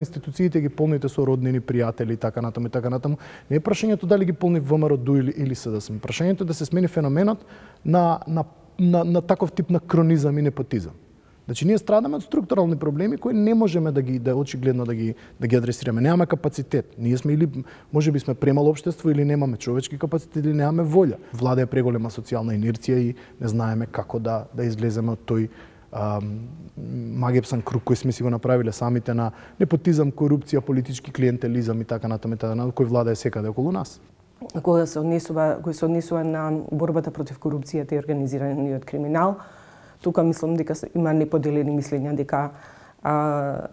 Институциите ги полните со роднини, пријатели и така натаму и така натаму. Не е прашањето дали ги полни ВМРО или СДСМ. Прашањето е да се смени феноменот на таков тип на кронизам и непотизам. Значи ние страдаме од структурални проблеми кои не можеме да очигледно да ги адресираме. Немаме капацитет. Ние сме или можеби сме премало општество или немаме човечки капацитет или немаме волја. Влада е преголема социјална инерција и не знаеме како да излеземе од тој магепсан круг кој сме си го направиле самите на непотизам, корупција, политички клиентелизам и така натаму, кој влада е секаде околу нас. Кој се однесува на борбата против корупцијата и организираниот криминал, тука мислам дека има неподелени мислења дека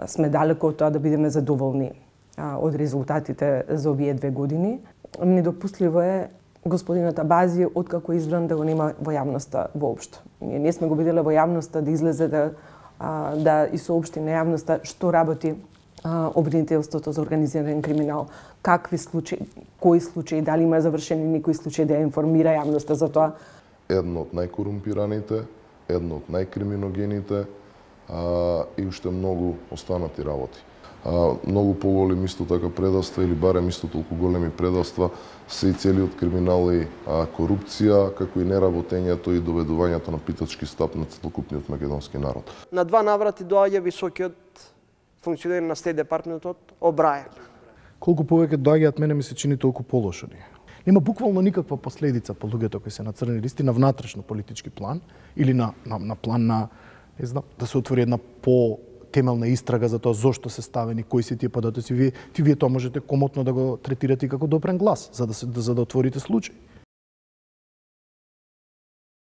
сме далеко од тоа да бидеме задоволни од резултатите за овие 2 години. Недопустливо е господинот Абази откако избран да го нема во јавноста воопшто. Ние не сме го виделе во јавноста да излезе да и соопшти на јавноста што работи обвинителството за организиран криминал, какви случаи, кои случаи, дали има завршени некои случаи да ја информира јавноста за тоа. Едно од најкорумпираните, едно од најкриминогените и уште многу останати работи. Многу поголеми исто така предавства или барем исто толку големи предавства се и целиот криминал и корупција, како и неработењето и доведувањето на питачки стап на целокупниот македонски народ. На 2 наврати доаѓа високиот функционер на Стејт департментот Обрајан. Колку повеќе доаѓаат, мене ми се чини толку полошо. Нема буквално никаква последица по луѓето кои се на црни листи на внатрешно политички план или на план на, не знам, да се отвори една темелна истрага за тоа зошто се ставени, кои се тие податоци. Вие тоа можете комотно да го третирате како допрен глас, за да отворите случај.